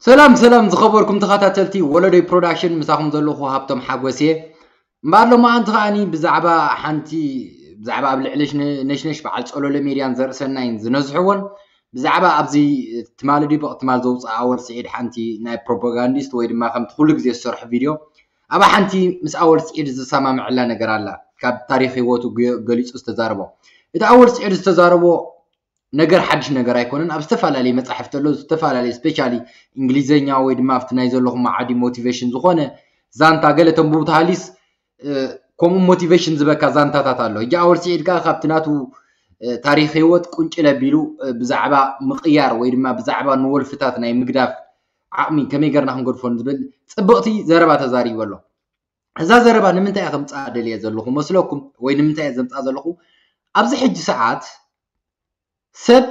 ሰላም ሰላም ዝኸበርኩም ተኸታተልቲ ወለዶይ ፕሮዳክሽን፣ ምሳኹም ዘለኹ ሃብቶም ሓጎስ እየ። እምበኣር ሎማዓንቲ ከዓኒ ብዛዕባ ሓንቲ ብዛዕባ ኣብ ልዕሊ ነሽነሽ በዓል ጸሎለ ሜድያን ዘርእሰናይን ዝነዝሕዎን ብዛዕባ ኣብዚ ትማሊ ድዩ ብቕ ትማል ዘውፅኣ ኣወል ስዒድ ሓንቲ ናይ ፕሮፓጋንዲስት ወይ ድማ ከምቲ ኩሉ ግዜ ዝሰርሑ ቪድዮ ኣብ ሓንቲ ምስ ኣወል ስዒድ ዝሰማምዐላ ነገር ኣላ። ካብ ታሪክ ህይወቱ ገ- ገሊፁ ዝተዛረቦ እቲ ኣወል ስዒድ ዝተዛረቦ ነገር ሓድሽ ነገር ኣይኮነን። ኣብ ዝተፈላለዩ መጻሕፍቲ ኣሎ፣ ዝተፈላለዩ ስፔሻሊ እንግሊዘኛ ወይ ድማ ኣብቲ ናይ ዘለኹም ዓዲ ሞቲቬሽን ዝኾነ ዛንታ ገለ ተንብቡ ተሃሊስ ከምኡ ሞቲቬሽን ዝበካ ዛንታታት ኣሎ። ሕጂ ኣወል ስዒድ ከዓ ካብቲ ናቱ ታሪክ ህይወት ቁንጭል ኣቢሉ ብዛዕባ ምቕያር ወይ ድማ ብዛዕባ ንወልፍታት ናይ ምግዳፍ ዓቕሚ ከመይ ገርና ክንገድፎ ዝብል ፅብቕቲ ዘረባ ተዛሪቡ ኣሎ። እዛ ዘረባ ንምንታይ እየ ከምፅኣ ደልየ ዘለኹ መስለኩም ወይ ንምንታይ እየ ዘምፅኣ ዘለኹ? ኣብዚ ሕጂ ሰዓት ሰብ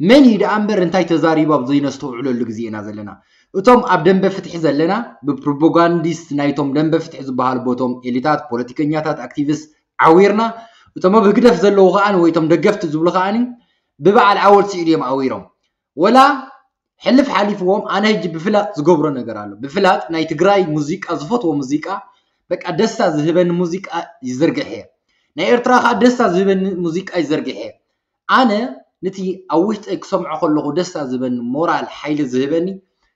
መን እዩ ደኣ እምበር እንታይ ተዛሪቡ ኣብ ዘይነስተውዕለሉ ግዜ ኢና ዘለና። እቶም ኣብ ደንበ ፍትሒ ዘለና ብፕሮፓጋንዲስት ናይቶም ደንበ ፍትሒ ዝበሃሉ ቦቶም ኤሊታት ፖለቲከኛታት ኣክቲቪስት ዓዊርና፣ እቶም ኣብ ህግደፍ ዘለዉ ከኣ ወይ እቶም ደገፍቲ ዝብሉ ከኣ ብበዓል ኣወል ስዒድ እዮም ኣዊሮም። ወላ ሕልፍ ሓሊፍዎም ኣነ ሕጂ ብፍላጥ ዝገብሮ ነገር ኣሎ። ብፍላጥ ናይ ትግራይ ሙዚቃ ዝፈትዎ ሙዚቃ በቃ ደስታ ዝህበኒ ሙዚቃ ይዝርግሕ እየ። ናይ ኤርትራ ከዓ ደስታ ዝህበኒ ሙዚቃ ይዘርግሕ እየ። ኣነ ነቲ ኣብ ውሽጠይ ክሰምዖ ከለኹ ደስታ ዝህበኒ ሞራል ሓይሊ ዝህበኒ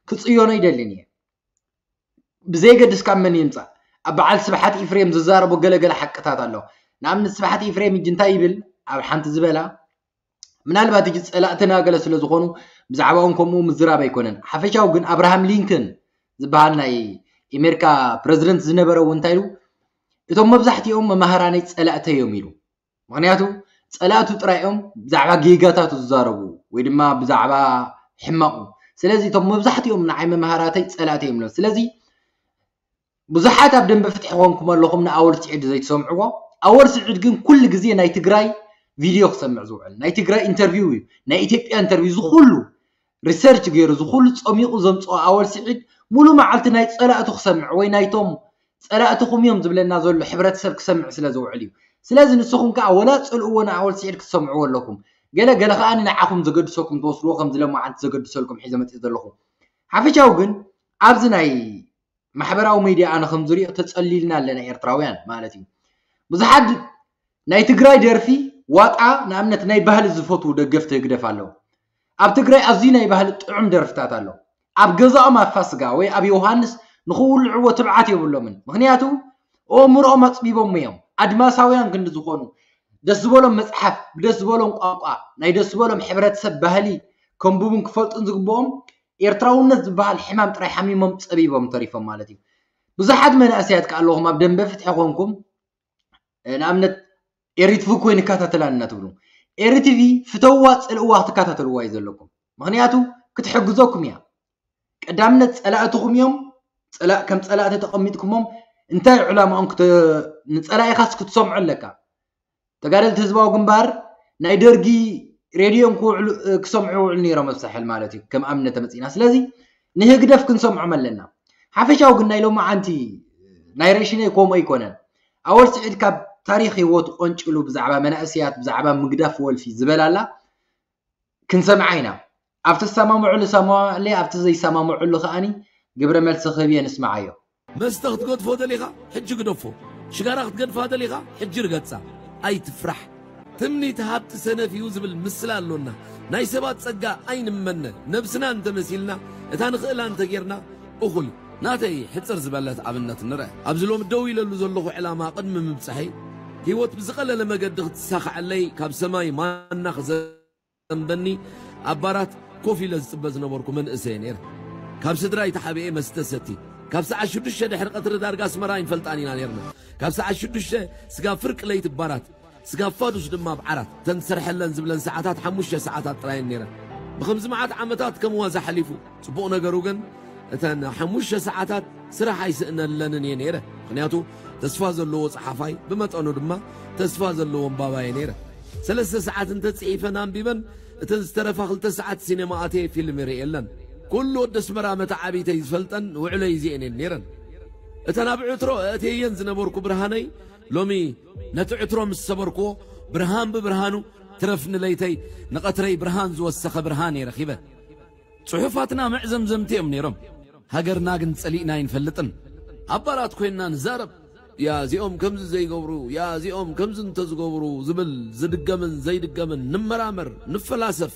ክፅዮኖ ይደልን እየ። ብዘይገድስ ካብ መን ይምፃእ ኣብ በዓል ስብሓት ኢፍሬም ዝዛረቦ ገለገለ ሓቅታት ኣሎ። ንኣብነት ስብሓት ኢፍሬም እጅ እንታይ ይብል ኣብ ሓንቲ ዝበላ ምናልባት እጅ ፀላእትና ገለ ስለ ዝኾኑ ብዛዕባኦም ከምኡ ምዝራብ ኣይኮነን። ሓፈሻዊ ግን ኣብርሃም ሊንከን ዝበሃል ናይ ኤሜሪካ ፕረዚደንት ዝነበረ እውን እንታይ ኢሉ እቶም መብዛሕትኦም መማህራነይ ፀላእተይ እዮም ኢሉ። ምክንያቱ ፀላእቱ ጥራይ እዮም ብዛዕባ ጌጋታቱ ዝዛረቡ ወይ ድማ ብዛዕባ ሕማቑ። ስለዚ እቶም መብዛሕትኦም ንዓይ መማህራተይ ፀላእተይ እዮም ኢሎም። ስለዚ ብዙሓት ኣብ ደንበ ፍትሒ ኮንኩም ኣለኹም ንኣወል ስዒድ ዘይትሰምዕዎ። ኣወል ስዒድ ግን ኩሉ ግዜ ናይ ትግራይ ቪድዮ ክሰምዕ ዝውዕል ናይ ትግራይ ኢንተርቪው እዩ። ናይ ኢትዮጵያ ኢንተርቪው ዝኩሉ ሪሰርች ገይሩ ዝኩሉ ፀሚቑ ዘምፅኦ ኣወል ስዒድ ሙሉ መዓልቲ ናይ ፀላእቱ ክሰምዕ ወይ ናይቶም ፀላእትኹም እዮም ዝብለና ዘሎ ሕብረተሰብ ክሰምዕ ስለ ዝውዕል እዩ። ስለዚ ንስኹም ከዓ ወላ ፅልእዎ ንኣወል ስዒድ ክትሰምዕዎ ኣለኩም። ገለ ገለ ከዓ ንዓኹም ዘገድሰኩም ትወስድዎ ከም ዝለማዓንቲ ዘገድሰልኩም ሒዘ መፅእ ዘለኹ። ሓፈሻዊ ግን ኣብዚ ናይ ማሕበራዊ ሚድያ ኣነ ከም ዝሪኦ ተፀሊልና ኣለና ኤርትራውያን ማለት እዩ። ብዙሓት ናይ ትግራይ ደርፊ ዋጣ ንኣብነት ናይ ባህሊ ዝፈትዉ ደገፍቲ ህግደፍ ኣለዉ። ኣብ ትግራይ ኣዝዩ ናይ ባህሊ ጥዑም ደርፍታት ኣሎ። ኣብ ገዛኦም ኣብ ፋስጋ ወይ ኣብ ዮሃንስ ንክውልዕዎ ትብዓት የብሎምን። ምክንያቱ ኣእምሮኦም ኣፅቢቦም እዮም። ኣድማሳውያን ክንዲ ዝኾኑ ደስ ዝበሎም መፅሓፍ ብደስ ዝበሎም ቋንቋ ናይ ደስ ዝበሎም ሕብረተሰብ ባህሊ ከንብቡን ክፈልጡን ዝግብኦም ኤርትራውነት ዝበሃል ሕማም ጥራይ ሓሚሞም ፀቢቦም ተሪፎም ማለት እዩ። ብዙሓት መናእሰያት ከ ኣለኹም ኣብ ደንበ ፍትሒ ኮንኩም ንኣብነት ኤሪትቪ እኮ ይንከታተላን እናትብሉ ኤሪትቪ ፍተዋ ፅልእዋ ክትከታተልዋ እዩ ዘለኩም። ምክንያቱ ክትሕግዘኩም እያ። ቀዳምነት ፀላእትኹም እዮም። ከም ፀላእቲ ተቐሚጥኩሞም እንታይ ዕላማኦም ንፀላኢኻስ ክትሰምዖ ኣለካ። ተጋደልቲ ህዝባዊ ግንባር ናይ ደርጊ ሬድዮም ክሰምዑ ይውዕሉ ነይሮም ኣብ ሳሕል ማለት እዩ ከም ኣብነት ተመፂና። ስለዚ ንህግደፍ ክንሰምዖም ኣለና። ሓፈሻዊ ግን ናይ ሎማዓንቲ ናይ ሬሽነይ ከምኡ ኣይኮነን። ኣወል ስዒድ ካብ ታሪክ ህይወቱ ቆንጭሉ ብዛዕባ መናእሰያት ብዛዕባ ምግዳፍ ወልፊ ዝበላላ ክንሰምዓ ኢና። ኣብ ትሰማምዑሉ ሰማማዕለይ ኣብ ዘይሰማምዑሉ ከዓኒ ግብረ መልሲ ክህብ እየ ንስምዓዮ። መስተ ክትገድፎ ደሊኻ ሕጂ ግደፎ። ሽጋራ ክትገድፋ ደሊኻ ሕጂ ርገጻ። ኣይትፍራሕ። ትምኒት ሃብቲ ሰነፍ እዩ ዝብል ምስላ ኣሎና። ናይ ሰባት ጸጋ ኣይንመነ። ነብስና እንተመሲልና እታ ንኽእላ እንተጌርና እኹል። ናተይ ሕጽር ዝበለት ኣብነት ንርእ። ኣብዚ ሎሚ ደው ኢለሉ ዘለኹ ዕላማ ቅድሚ ምብጻሐይ ህይወት ብዝቐለለ መገዲ ክትሳኻዐለይ ካብ ሰማይ ማና ክዘ ዘንበኒ ኣብ ባራት ኮፍ ኢለ ዝጽበ ዝነበርኩ መንእሰየ ነይረ። ካብ ስድራይ ተሓቢኤ መስተ ሰቲ ካብ ሰዓት ሽዱሽተ ድሕሪ ቀትሪ ዳርጋ ኣስመራ ኣይንፈልጣን ኢና ነይርና። ካብ ሰዓት ሽዱሽተ ስጋብ ፍርቂ ለይቲ ባራት ስጋብ ፋዱሽ ድማ ኣብ ዓራት ተን ዝሰርሐለን ዝብለን ሰዓታት ሓሙሽተ ሰዓታት ጥራየን ነይረን። ብኸምዚ መዓት ዓመታት ከም ዋዛ ሓሊፉ። ጽቡቕ ነገሩ ግን እተን ሓሙሽተ ሰዓታት ስራሕ ኣይስእነለንን እየ ነይረ። ምኽንያቱ ተስፋ ዘለዎ ጸሓፋይ ብመጠኑ ድማ ተስፋ ዘለዎ ኣንባባየ ነይረ። ሰለስተ ሰዓት እንተጽሒፈን ኣንቢበን እተን ዝተረፋ ክልተ ሰዓት ሲኔማ ኣትየ ፊልም ይርእየለን። ኩሉ ወዲ ኣስመራ መተዓቢተይ ዝፈልጠን ውዕለይ እዚኤን እየን ነይረን። እተን ኣብ ዕትሮ ኣእትየየን ዝነበርኩ ብርሃነይ ሎሚ ነቲ ዕትሮ ምስ ሰበርክዎ ብርሃን ብብርሃኑ ትረፍኒ ለይተይ ንቐትረይ ብርሃን ዝወሰኸ ብርሃን እየ ረኺበ። ጽሑፋትና መዕዘምዘምቲ እዮም ነይሮም። ሃገርና ግን ጸሊእና ኣይንፈልጥን። ኣባላት ኮይንና ንዛረብ። ያ እዚኦም ከምዚ ዘይገብሩ፣ ያ እዚኦም ከምዚ እንተዝገብሩ ዝብል ዝድገምን ዘይድገምን ንመራመር፣ ንፈላሰፍ።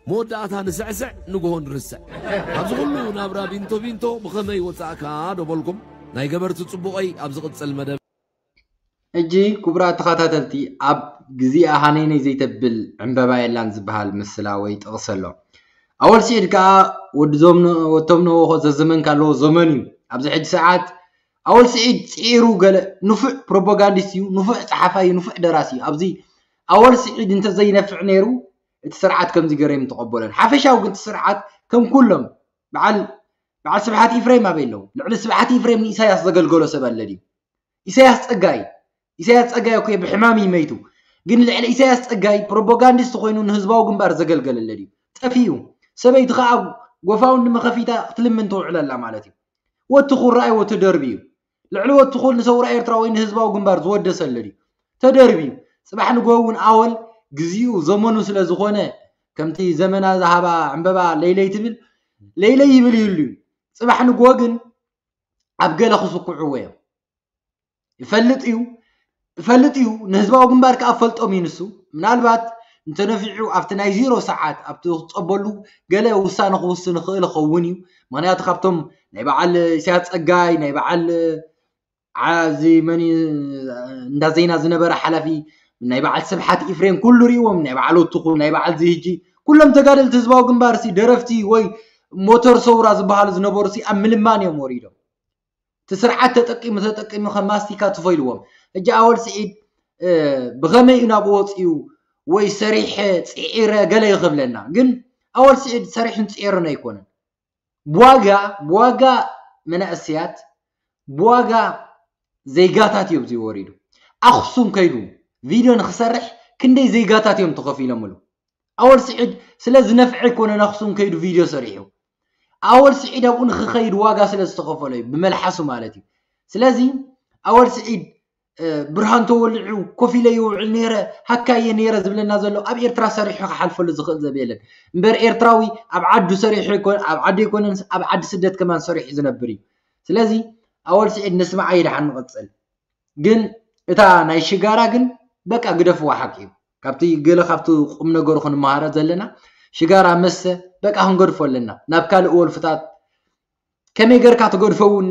መወዳእታ ንስዕስዕ፣ ንግሆ ንርስዕ። ኣብዚ ኩሉ ናብራ ቢንቶ ቢንቶ ብኸመይ ወጻእካ ዶ በልኩም? ናይ ገበርቲ ጽቡቐይ ኣብ ዝቕጽል መደብ። ሕጂ ክቡራት ተኸታተልቲ፣ ኣብ ግዜኣ ሃነይነይ ዘይተብል ዕምበባ የላን ዝበሃል ምስላ ወይ ጥቕሲ ኣሎ። ኣወል ስዒድ ከኣ ወዲ ዞምኖ-፣ ወቶም ነዎ ዘዘመን ካለዎ ዘመን እዩ። ኣብዚ ሕጂ ሰዓት ኣወል ስዒድ ጽዒሩ ገለ ንፉዕ ፕሮፓጋንዲስት እዩ፣ ንፉዕ ጸሓፋይ እዩ፣ ንፉዕ ደራሲ እዩ። ኣብዚ ኣወል ስዒድ እንተዘይነፍዕ ነይሩ እቲ ስርዓት ከምዚ ገይሩ ኣይምተቐበሎን። ሓፈሻዊ ግን እቲ ስርዓት ከም ኩሎም በዓል በዓል ስብሓት ኢፍሬም ኣበይ ኣለዉ? ልዕሊ ስብሓት ኢፍሬም ንኢሳያስ ዘገልገሎ ሰብ ኣለ ድዩ? ኢሳያስ ጸጋይ ኢሳያስ ጸጋይ እኮ ብሕማም ይመይቱ። ግን ልዕሊ ኢሳያስ ጸጋይ ፕሮፓጋንዲስት ኮይኑ ንህዝባዊ ግንባር ዘገልገለ ኣለ ድዩ? ጠፊኡ። ሰበይቲ ከኣ ጎፋውንዲ መኸፊታ ክትልምን ትውዕል ኣላ ማለት እዩ። ወትኹል ረኣይዎ ተደርብዩ። ልዕሊ ወትኹል ንሰውራ ኤርትራ ወይ ንህዝባዊ ግንባር ዝወደሰ ኣለ ድዩ? ተደርብዩ። ጽባሕ ንግሆ እውን ኣወል ግዚኡ ዘመኑ ስለ ዝኾነ ከምቲ ዘመና ዝሃባ ዕምበባ ለይለይ ትብል ለይለይ ይብል ይህሉ እዩ። ጽባሕ ንግሆ ግን ኣብ ገለ ክስኩዕዎ እዮም። ይፈልጥ እዩ ይፈልጥ እዩ ንህዝባዊ ግንባር ከኣ ፈልጦም እዩ ንሱ። ምናልባት እንተነፊዑ ኣብቲ ናይ ዜሮ ሰዓት ኣብቲ ክጸበሉ ገለ ውሳነ ክውስን ይኽእል ይኸውን እዩ። ምክንያቱ ካብቶም ናይ በዓል ኢሳያስ ጸጋይ ናይ በዓል ዓዚ መን እዩ እንዳ ዜና ዝነበረ ሓላፊ ናይ በዓል ስብሓት ኢፍሬም ኩሉ ሪእዎም ናይ በዓል ወትኹል ናይ በዓል ዝህጂ ኩሎም ተጋደልቲ ህዝባዊ ግንባር ሲ ደረፍቲ ወይ ሞተር ሰውራ ዝበሃሉ ዝነበሩ ሲ ኣብ ምልማን እዮም ወሪዶም። እቲ ስርዓት ተጠቂሙ ተጠቂሙ ከም ማስቲካ ትፎ ኢልዎም። ሕጂ ኣወል ስዒድ ብኸመይ እዩ ናብኡ ወፂኡ ወይ ሰሪሐ ፅዒረ ገለ እዩ ክብለና። ግን ኣወል ስዒድ ሰሪሑን ፅዒሩን ኣይኮነን። ብዋጋ ብዋጋ መናእሰያት ብዋጋ ዜጋታት እዮም ዝወሪዱ። ኣኽሱም ከይዱ ቪድዮ ንክሰርሕ ክንደይ ዜጋታት እዮም ተኸፊሎምሉ። ኣወል ስዒድ ስለ ዝነፍዐ ኣይኮነን ኣኽሱም ከይዱ ቪድዮ ሰሪሑ። ኣወል ስዒድ ኣብኡ ንክኸይድ ዋጋ ስለ ዝተኸፈሎ እዩ ብመልሓሱ ማለት እዩ። ስለዚ ኣወል ስዒድ ብርሃን ተወሊዑ ኮፍ ኢለ ይውዕል ነይረ ሃካየ ነይረ ዝብለና ዘሎ ኣብ ኤርትራ ሰሪሑ ክሓልፈሉ ዝኽእል ዘብ የለን። እምበር ኤርትራዊ ኣብ ዓዱ ሰሪሑ ኣይኮን ኣብ ዓዱ ኣይኮነን ኣብ ዓዲ ስደት ከማን ሰሪሑ ዝነብር እዩ። ስለዚ ኣወል ስዒድ ንስማዓ ይድሓን ንቐጽል። ግን እታ ናይ ሽጋራ ግን በቃ ግደፍዋ ሓቂ እዩ። ካብቲ ገለ ካብቲ ቁም ነገሩ ክንመሃረ ዘለና ሽጋራ መስተ በቃ ክንገድፎ ኣለና ናብ ካልእ ወልፍታት ከመይ ገርካ ትገድፎ እውን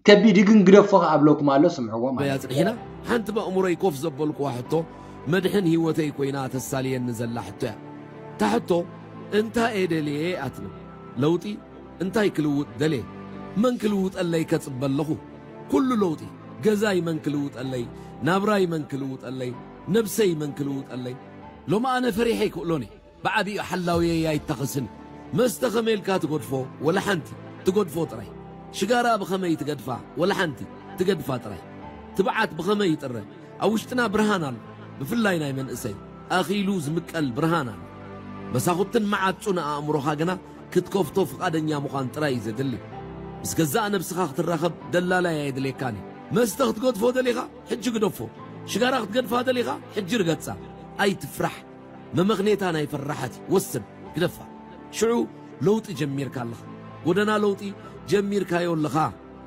ከቢድ እዩ ግን ግደፎ ከኣ ኣብለኩም ኣሎ ስምዕዎ ማለት በያ ጽሒና ሓንቲ በእምሮይ ኮፍ ዘበልኩዋ ሕቶ መድሕን ህይወተይ ኮይና ተሳልየኒ ዘላ ሕቶ እያ። እታ ሕቶ እንታይ እየ ደልየ እያ ትብል። ለውጢ እንታይ ክልውጥ ደልየ? መን ክልውጠለይ ከጽበ ኣለኹ? ኩሉ ለውጢ ገዛይ መን ክልውጠለይ? ናብራይ መን ክልውጠለይ? ነብሰይ መን ክልውጠለይ? ሎም ኣነ ፈሪሐ ኣይክእሎን እየ። ብዓቢኡ ሓላውየይ ኣይተኸስን። መስተ ከመይ ኢልካ ትገድፎ? ወላ ሓንቲ። ትገድፎ ጥራይ። ሽጋራ ብኸመይ ትገድፋ? ወላ ሓንቲ። ትገድፋ ጥራይ። ትብዓት ብኸመይ ይጥረ? ኣብ ውሽጥና ብርሃን ኣሎ። ብፍላይ ናይ መንእሰይ። ኣኺሉ ዝምቀል ብርሃን ኣሎ። መሳኹትን መዓጹን ኣእምሮኻ ግና ክትከፍቶ ፍቓደኛ ምዃን ጥራይ እዩ ዘድሊ። ምስ ገዛእ ነብስኻ ክትራኸብ ደላላይ ኣየድልየካን እዩ። መስተ ክትገድፎ ደሊኻ? ሕጂ ግደፎ። ሽጋራ ክትገድፋ ደሊኻ? ሕጂ ርገጻ። ኣይትፍራሕ። መመኽኔታ ናይ ፈራሓት እዩ። ወስን፣ ግደፋ። ሽዑ ለውጢ ጀሚርካ ኣለኻ። ጎደና ለውጢ ጀሚርካዮ ኣለኻ።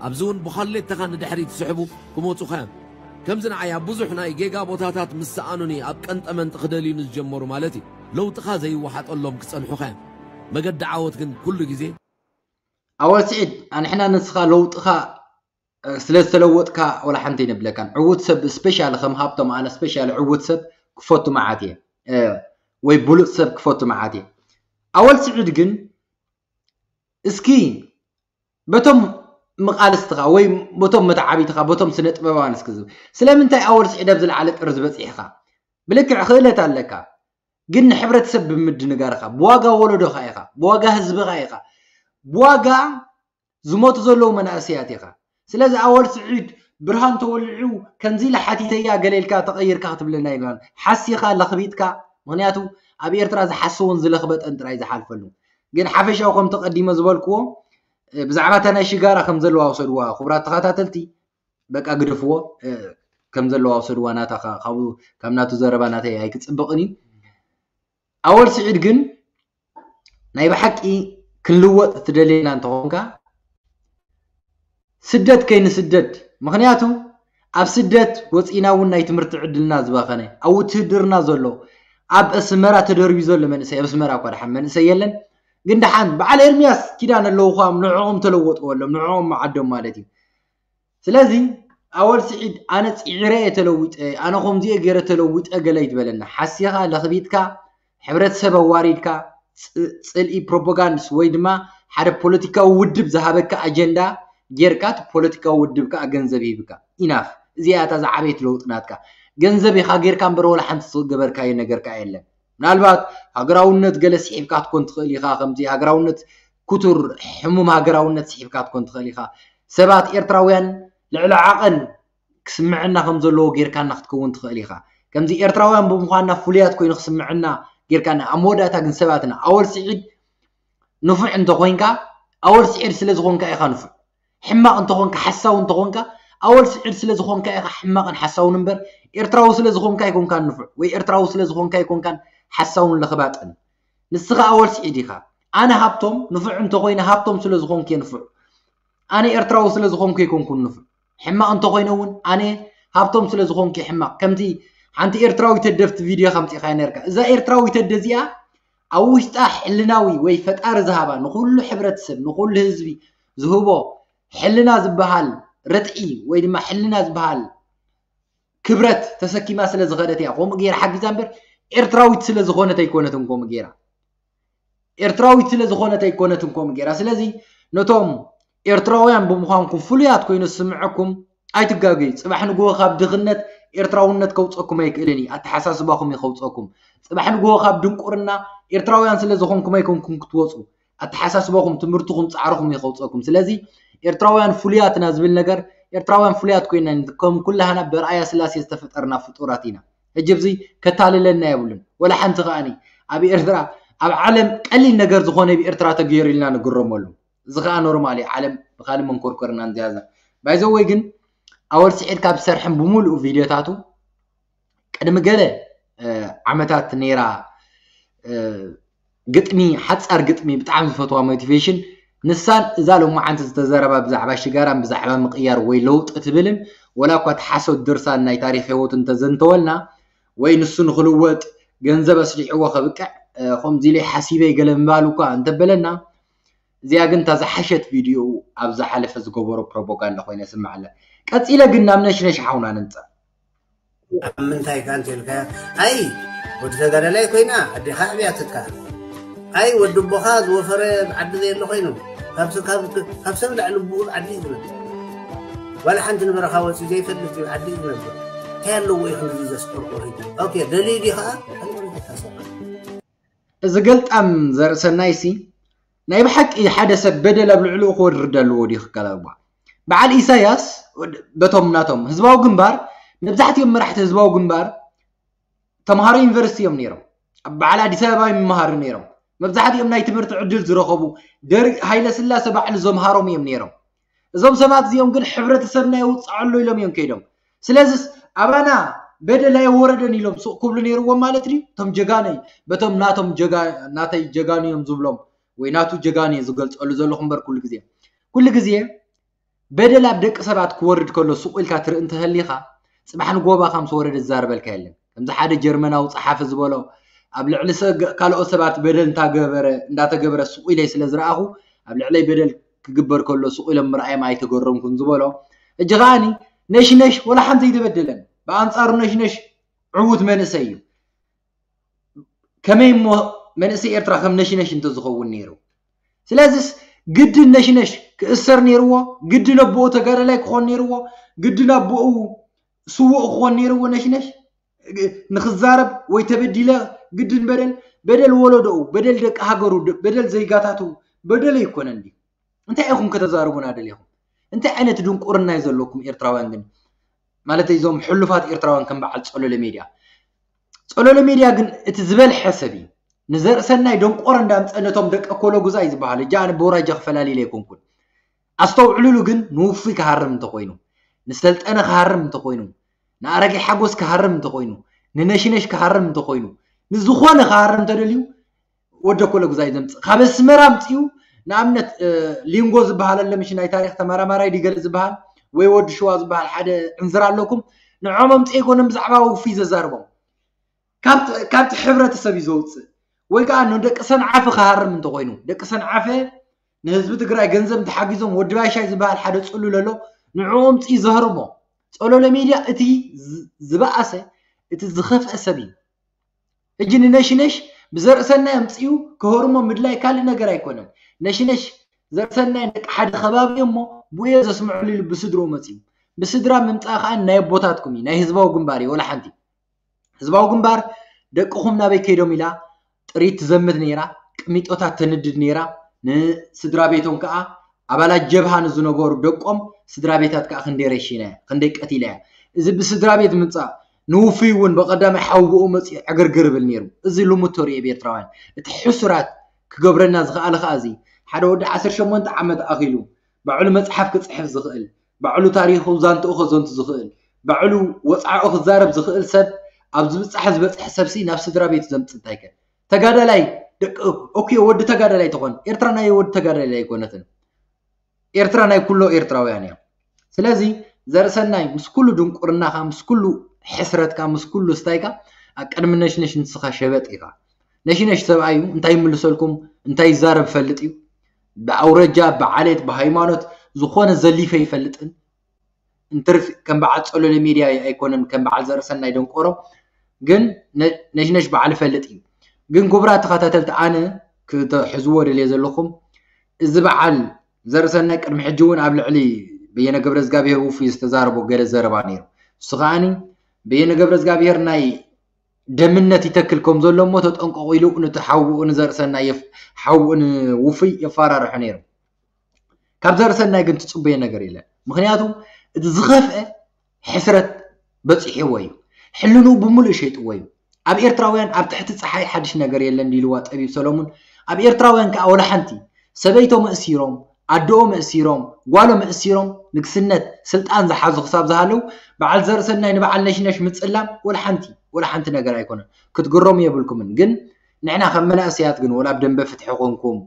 ኣብዚ እውን ብዃሌተኻ ንድሕሪት ዝስሕቡ ክመጹኻ እዮም። ከምዚ ንዓይ ኣብ ብዙሕ ናይ ጌጋ ቦታታት ምስ ሰኣኑኒ ኣብ ቀንጠመንጢ ክደልዩኒ ዝጀመሩ ማለት እዩ። ለውጥኻ ዘይወሓጠሎም ክጸንሑኻ እዮም። መገዲ ዓወት ግን ኩሉ ግዜ ኣወል ስዒድ ኣንሕና ንስኻ ለውጥኻ ስለ ዝተለወጥካ ወላ ሓንቲ ይንብለካን ዕዉት ሰብ ስፔሻሊ ከም ሃብቶም ኣነ ስፔሻሊ ዕዉት ሰብ ክፈቱ መዓት እየ ወይ ብሉፅ ሰብ ክፈቱ መዓት እየ ኣወል ስዒድ ግን እስኪ በቶም መቃልስትኻ ወይ በቶም መተዓቢትኻ በቶም ስነ ጥበባውያን እስኪ ዝብል ስለምንታይ ኣወል ስዒድ ኣብ ዝለዓለ ጥርዚ በፂሕኻ ብልክዕ ክእለት ኣለካ ግን ንሕብረተሰብ ብምድንጋርኻ ብዋጋ ወለዶኻ ኢኻ ብዋጋ ህዝብኻ ኢኻ ብዋጋ ዝሞቱ ዘለዉ መናእሰያት ኢኻ ስለዚ ኣወል ስዒድ ብርሃን ተወሊዑ ከምዚ ኢለ ሓቲተያ ገለ ኢልካ ተቐይርካ ክትብለና የለን ሓሲኻ ለኽቢጥካ ምኽንያቱ ኣብ ኤርትራ ዝሓሰቦን ዝለኽበጠን ጥራይ ዝሓልፈሉ ግን ሓፈሻዊ ከም ተቐዲመ ዝበልክዎ ብዛዕባ እታ ናይ ሽጋራ ከም ዘለዋ ውሰድዋ ክቡራት ተኸታተልቲ በቃ ግደፍዎ ከም ዘለዋ ውሰድዋ ናታ ካብኡ ካብ ናቱ ዘረባ ናተይ ኣይክጽብቕን እዩ ኣወል ስዒድ ግን ናይ ብሓቂ ክንልወጥ ትደልየና እንተኾንካ ስደት ከይንስደድ። ምኽንያቱ ኣብ ስደት ወፂና እውን ናይ ትምህርቲ ዕድልና ዝባኸነ፣ ኣብ ውትህድርና ዘሎ፣ ኣብ ኣስመራ ተደርቢ ዘሎ መንእሰይ፣ ኣብ ኣስመራ እኳ ደሓን መንእሰይ የለን፣ ግን ደሓን በዓል ኤርሚያስ ኪዳን ኣለዉ ኳም ንዕኦም ተለወጥዎ ኣሎም፣ ንዕኦም መዓዶም ማለት እዩ። ስለዚ ኣወል ስዒድ ኣነ ፅዒረ እየ ተለዊጠ፣ ኣነ ከምዚኦ ገይረ ተለዊጠ ገለ ይትበለና። ሓሲኻ ለኽቢጥካ ሕብረተሰብ ኣዋሪድካ ፅልኢ ፕሮፓጋንድስ ወይ ድማ ሓደ ፖለቲካዊ ውድብ ዝሃበካ ኣጀንዳ ጌርካ እቲ ፖለቲካዊ ውድብ ከዓ ገንዘብ ይህብካ ኢናፍ። እዚኣ እታ ዝዓበየት ለውጢ ናትካ። ገንዘብ ኢኻ ጌርካ እምበር ወላ ሓንቲ ዝገበርካዮ ነገር ከዓ የለን። ምናልባት ሃገራውነት ገለ ስሒብካ ትኮን ትኽእል ኢኻ። ከምዚ ሃገራውነት ክቱር ሕሙም ሃገራውነት ስሒብካ ትኮን ትኽእል ኢኻ። ሰባት ኤርትራውያን ልዕሊ ዓቐን ክስምዐና ከም ዘለዎ ጌርካና ክትከውን ትኽእል ኢኻ። ከምዚ ኤርትራውያን ብምዃንና ፍሉያት ኮይኑ ክስምዐና ጌርካና። ኣብ መወዳእታ ግን ሰባትና ኣወል ስዒድ ንፉዕ እንተኾይንካ ኣወል ስዒድ ስለ ዝኾንካ ኢኻ ንፉዕ። ሕማቕ እንተኾንካ ሓሳዊ እንተኾንካ ኣወል ስዒድ ስለ ዝኾንካ ኢኻ ሕማቕን ሓሳውን እምበር ኤርትራዊ ስለ ዝኾንካ ኣይኮንካን ንፉዕ ወይ ኤርትራዊ ስለ ዝኾንካ ኣይኮንካን ሓሳውን ለኽባጥን። ንስኻ ኣወል ስዒድ ኢኻ። ኣነ ሃብቶም ንፉዕ እንተኾይነ ሃብቶም ስለ ዝኾንኩ እየ ንፉዕ። ኣነ ኤርትራዊ ስለ ዝኾንኩ ኣይኮንኩን ንፉዕ። ሕማቕ እንተኾይነ እውን ኣነ ሃብቶም ስለ ዝኾንኩ እየ ሕማቕ። ከምቲ ሓንቲ ኤርትራዊት ህደፍቲ ቪድዮ ከምፂእኻ ነርካ። እዛ ኤርትራዊት ህደ እዚኣ ኣብ ውሽጣ ሕልናዊ ወይ ፈጣሪ ዝሃባ ንኹሉ ሕብረተሰብ ንኹሉ ህዝቢ ዝህቦ ሕልና ዝበሃል ርትዒ ወይ ድማ ሕልና ዝበሃል ክብረት ተሰኪማ ስለ ዝኸደት እያ ከምኡ ገይራ ሓጊዛ እምበር ኤርትራዊት ስለ ዝኾነት ኣይኮነትን ከምኡ ገይራ። ኤርትራዊት ስለ ዝኾነት ኣይኮነትን ከምኡ ገይራ። ስለዚ ነቶም ኤርትራውያን ብምዃንኩም ፍሉያት ኮይኑ ዝስምዐኩም ኣይትጋገዩ። ጽባሕ ንግሆ ካብ ድኽነት ኤርትራውነት ከውፀኩም ኣይክእልን እዩ። ኣተሓሳስባኹም እዩ ከውፀኩም። ጽባሕ ንግሆ ካብ ድንቁርና ኤርትራውያን ስለ ዝኾንኩም ኣይኮንኩም ክትወፁ። ኣተሓሳስባኹም፣ ትምህርትኹም፣ ጻዕርኹም እዩ ከውፀኩም። ስለዚ ኤርትራውያን ፍሉያትና ዝብል ነገር ኤርትራውያን ፍሉያት ኮይና ከም ኩላህና በርኣያ ስላሴ ዝተፈጠርና ፍጡራት ኢና። ሕጂ ኣብዚ ከታልለና የብሉን። ወላ ሓንቲ ከኣኒ ኣብ ኤርትራ ኣብ ዓለም ቀሊል ነገር ዝኾነ ብኤርትራ ተገይሩ ኢልና ንግረመሉ። እዚ ከኣ ኖርማል እዩ። ዓለም ብካልእ መንኮርኮርና እንዝያዛ ባይዘወይ ግን ኣወል ስዒድ ካብ ዝሰርሐን ብምሉኡ ቪድዮታቱ ቅድሚ ገለ ዓመታት ነይራ ግጥሚ ሓፃር ግጥሚ ብጣዕሚ ዝፈትዋ ሞቲቬሽን ንሳን እዛ ሎማዓንቲ ዝተዘረባ ብዛዕባ ሽጋራን ብዛዕባ ምቕያር ወይ ለውጢ ትብልን ወላ እኳ እቲ ሓሶት ድርሳን ናይ ታሪክ ህይወቱ እንተዘንተወልና ወይ ንሱ ንክልወጥ ገንዘብ ኣስሊሕዎ ከብቅዕ ከምዚ ኢለ ሓሲበ ገለ ምባል እኳ እንተበለና እዚኣ ግን እታ ዝሓሸት ቪድዮኡ ኣብ ዝሓለፈ ዝገበሮ ፕሮፓጋንዳ ኮይና ይስምዓላ። ቀፂለ ግን ናብ ነሽነሽ ሓውና ንምፃእ። ኣብ ምንታይ ከ እንተ ኢልካያ ኣይ ወዲ ተጋዳላይ ኮይና ኣዴኻ ኣዕብያትካ ኣይ ወዲ ኣቦኻ ዝወፈረ ዓዲ ዘየለ ኮይኑ ካብ ሰብ ላዕሊ ብኡ ዓዲ እዩ ዝነብር ዋላ ሓንቲ ንበረኻ ወፂኡ ዘይፈልጥ እዩ ዓዲ እዩ ዝነብር እንታይ ኣለዎ እዩ ክንዚ ዘስቆርቆር እዩ ኦኬ ደልዩ ድዩ ከዓ እዚ ገልጣም ዘርእሰናይሲ ናይ ብሓቂ ሓደ ሰብ በደል ኣብ ልዕሊኡ ክወርድ ኣለዎ ድዩ ክከላልዋ በዓል ኢሳያስ በቶም ናቶም ህዝባዊ ግንባር መብዛሕትኦም መራሕቲ ህዝባዊ ግንባር ተምሃሮ ዩኒቨርሲቲ እዮም ነይሮም ኣብ በዓል ኣዲስ ኣበባ ይመሃሩ ነይሮም መብዛሕትኦም ናይ ትምህርቲ ዕድል ዝረኸቡ ደርግ ሃይለ ስላሰ ባዕሉ ዘምሃሮም እዮም ነይሮም እዞም ሰባት እዚኦም ግን ሕብረተሰብና የውፅዓሉ ኢሎም እዮም ከይዶም ስለዚስ ኣባና በደል ኣይወረደን ኢሎም ሱቕ ክብሉ ነይርዎም ማለት ድዩ እቶም ጀጋነይ በቶም ናቶም ናተይ ጀጋኑ እዮም ዝብሎም ወይ ናቱ ጀጋኑ እየ ዝገልፀሉ ዘለኹ እምበር ኩሉ ግዜ ኩሉ ግዜ በደል ኣብ ደቂ ሰባት ክወርድ ከሎ ሱቕ ኢልካ ትርኢ እንተህሊኻ ፅባሕ ንጎባኻ ምስ ወረደ ዝዛረበልካ የለን ከምዚ ሓደ ጀርመናዊ ፀሓፊ ዝበሎ ኣብ ልዕሊ ካልኦት ሰባት በደል እንዳተገበረ ሱቕ ኢለይ ስለ ዝረኣኹ ኣብ ልዕለይ በደል ክግበር ከሎ ሱቕ ኢሎም ምርኣዮም ኣይተገረምኩን ዝበሎ እጂ ከዓኒ ነሽነሽ ወላ ሓንቲ ኣይተበደለን ብኣንፃሩ ነሽነሽ ዕዉት መንእሰይ እዩ ከመይ እሞ መንእሰይ ኤርትራ ከም ነሽነሽ እንተዝኸውን ነይሩ ስለዚስ ግድን ነሽነሽ ክእሰር ነይርዎ ግድን ኣቦኡ ተጋዳላይ ክኾን ነይርዎ ግድን ኣቦኡ ስዉእ ክኾን ነይርዎ ነሽነሽ ንክዛረብ ወይ ተበዲለ ግድን በደል በደል ወለዶኡ በደል ደቂ ሃገሩ በደል ዜጋታቱ በደል ኣይኮነን ድዩ እንታይ ኢኹም ከተዛርቡና ደሊኹም እንታይ ዓይነት ድንቁርና እዩ ዘለኩም ኤርትራውያን ግን ማለት እዞም ሕሉፋት ኤርትራውያን ከም በዓል ጸሎለ ሜድያ ጸሎለ ሜድያ ግን እቲ ዝበልሐ ሰብ እዩ ንዘርእሰናይ ደንቆሮ እንዳምፀ ነቶም ደቂ ኮሎ ጉዛይ ዝበሃል እጃ ኣነ በውራጃ ክፈላሊለ ኣይኮንኩን ኣስተውዕሉሉ ግን ንውፉይ ክሃርም እንተኮይኑ ንሰልጠነ ክሃርም እንተኮይኑ ንኣረጋይ ሓጎስ ክሃርም እንተኮይኑ ንነሽነሽ ክሃርም እንተኮይኑ ንዝኾነ ክሃርም እንተደልዩ ወደ ኮሎ ጉዛይ ዘምፅእ ካብ ኣስመራ ኣምፅኡ ንኣብነት ሊንጎ ዝበሃል ኣሎ ምሽ ናይ ታሪክ ተመራማራይ ድገለ ዝበሃል ወይ ወዲ ሽዋ ዝበሃል ሓደ ዕንዝር ኣለኩም። ንዖም ኣምፅእ ኣይኮነን ብዛዕባ ውፉይ ዘዛርቦም ካብቲ ሕብረተሰብ እዩ ዘውፅእ። ወይ ከዓ ንደቂ ሰንዓፈ ክሃርም እንተኮይኑ ደቂ ሰንዓፈ ንህዝቢ ትግራይ ገንዘብ እንተሓጊዞም ወዲ ባሻይ ዝበሃል ሓደ ፅሉል ኣሎ ንዕኡ ኣምፅእ ዘህርሞ። ፀሎለ ሚድያ እቲ ዝበኣሰ እቲ ዝኸፍአ ሰብ እዩ። ሕጂ ንነሽነሽ ብዘርእሰናይ ኣምፅኡ ክህርሞ ምድላይ ካልእ ነገር ኣይኮነን። ነሽነሽ ዘርእሰናይ ደቂ ሓደ ከባቢ እሞ ብኡየ ዘስምዕሉ ኢሉ ብስድርኡ መፅኡ። ብስድራ ምምፃእ ከዓ ናይ ኣቦታትኩም እዩ፣ ናይ ህዝባዊ ግንባር እዩ። ወላ ሓንቲ ህዝባዊ ግንባር ደቅኹም ናበይ ከይዶም ኢላ ጥሪት ትዘምት ነይራ፣ ቅሚጦታት ተንድድ ነይራ። ንስድራ ቤቶም ከዓ ኣባላት ጀብሃ ንዝነበሩ ደቆም ስድራ ቤታት ከዓ ክንደይ ረሺና እያ፣ ክንደይ ቀቲላ እያ። እዚ ብስድራ ቤት ምምፃእ ንውፉይ እውን ብቐዳማይ ሓውብኡ መፂኡ ዕግርግር ብል ነይሩ። እዚ ልሙድ ተሪኦ ብኤርትራውያን እቲ ሕሱራት ክገብረና ዝኸኣለ ከዓ እዚ ሓደ ወዲ ዓሰርተ ሸሞንተ ዓመት ኣኺሉ ባዕሉ መፅሓፍ ክፅሕፍ ዝኽእል ባዕሉ ታሪኹ ዛንትኡ ከዘንቱ ዝኽእል ባዕሉ ወፃዕኡ ክዛረብ ዝኽእል ሰብ ኣብ ዝብፃሕ ዝበፅሕ ሰብሲ ናብ ስድራ ቤት ዘምፅ እንታይ ከ ተጋዳላይ ደቂ ኦኬ ወዲ ተጋዳላይ ተኾን ኤርትራ ናይ ወዲ ተጋዳላይ ኣይኮነትን። ኤርትራ ናይ ኩሎ ኤርትራውያን እዮም። ስለዚ ዘርእሰናይ ምስ ኩሉ ድንቁርናኻ ምስ ኩሉ ሕስረትካ ምስ ኩሉ ስታይካ ኣብ ቅድሚ ነሽነሽ ንስኻ ሸበጥ ኢኻ። ነሽነሽ ሰብኣይ እዩ እንታይ ይምልሰልኩም እንታይ ይዛረብ ፈልጥ እዩ። ብኣውረጃ ብዓሌት ብሃይማኖት ዝኾነ ዘሊፈ ይፈልጥን እንትርፍ ከም በዓል ፀሎለ ሚድያ ኣይኮነን ከም በዓል ዘርእሰናይ ደንቆሮ ግን ነሽነሽ በዓል ይፈልጥ እዩ። ግን ክቡራት ተኸታተልቲ ኣነ ክትሕዝዎ ደልየ ዘለኹም እዚ በዓል ዘርእሰናይ ቅድሚ ሕጂ እውን ኣብ ልዕሊ በየነ ገብረ እግዚኣብሔር ውፉይ ዝተዛረቦ ገለ ዘረባ ነይሩ። እሱ ከዓኒ በየነ ገብረ እግዚኣብሔር ናይ ደምነት ይተክል ከም ዘሎ እሞ ተጠንቀቑ ኢሉ ነቲ ሓውኡ ንዘርእሰናይ ሓውኡ ንውፉይ የፋራርሑ ነይሩ። ካብ ዘርእሰናይ ግን ትፅበዮ ነገር የለን። ምክንያቱ እቲ ዝኸፍአ ሕስረት በፂሕዎ እዩ። ሕልንኡ ብምሉእ ሸይጥዎ እዩ። ኣብ ኤርትራውያን ኣብ ትሕቲ ፀሓይ ሓድሽ ነገር የለን ድልዋ ጠቢብ ሰሎሙን ኣብ ኤርትራውያን ከዓ ወላ ሓንቲ ሰበይቶ መእሲሮም ኣደኦ መእሲሮም ጓሎ መእሲሮም ንግስነት ስልጣን ዝሓዙ ክሳብ ዝሃለው በዓል ዘርእሰናይ ንበዓል ነሽነሽ ምፅላም ወላ ሓንቲ ወላ ሓንቲ ነገር ኣይኮነን። ክትግረሙ የብልኩምን። ግን ንሕና ከም መናእሰያት ግን ወላ ኣብ ደንበ ፍትሒ ኮንኩም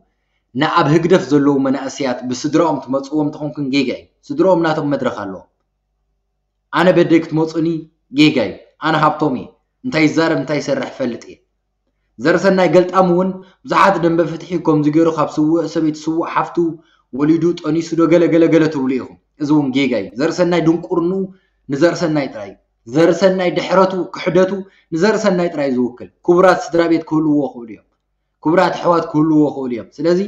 ንኣብ ህግደፍ ዘለዉ መናእሰያት ብስድራኦም ትመፅዎም ተኾንኩም ጌጋ እዩ። ስድራኦም ናቶም መድረኽ ኣለዎም። ኣነ በደይ ክትመፁኒ ጌጋ እዩ። ኣነ ሃብቶም እየ። እንታይ ይዛረብ እንታይ ይሰርሕ ፈልጥ እየ። ዘርሰናይ ገልጣም እውን ብዙሓት ደንበ ፍትሒ ከምዚ ገይሩ ካብ ስውእ ሰበይቲ ስውእ ሓፍቱ ወሊዱ ጠኒሱ ዶ ገለ ገለ ገለ ትብሉ ኢኹም። እዚ እውን ጌጋ እዩ። ዘርሰናይ ድንቁርንኡ ንዘርሰናይ ጥራይ እዩ። ዘርሰናይ ድሕረቱ ክሕደቱ ንዘርሰናይ ጥራይ እዩ ዝውክል። ክቡራት ስድራ ቤት ክህልውዎ ክእሉ እዮም። ክቡራት ኣሕዋት ክህልዎ ክእሉ እዮም። ስለዚ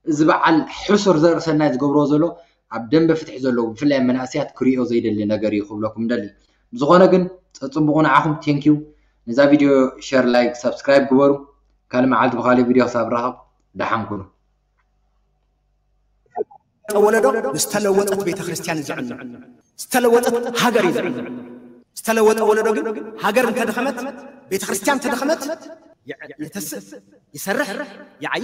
እዚ በዓል ሕሱር ዘርእሰናይ ዝገብርዎ ዘሎ ኣብ ደንበ ፍትሒ ዘለዉ ብፍላይ መናእሰያት ክሪኦ ዘይደሊ ነገር እዩ ክብለኩም ደሊ። ብዝኾነ ግን ጸጽቡቑ ንዓኹም ቴንኪዩ። ነዛ ቪድዮ ሸር ላይክ ሳብስክራይብ ግበሩ። ካልእ መዓልቲ ብኻልእ ቪድዮ ክሳብ ራኸብ ደሓን ኩኑ። ወለዶ ዝተለወጠት ቤተክርስትያን ዝዕኑ ዝተለወጠት ሃገር እዩ ዝዕኑ። ዝተለወጠ ወለዶ ግን ሃገር እንተደኸመት ቤተክርስትያን እንተደኸመት ይተስእ ይሰርሕ ይዓይ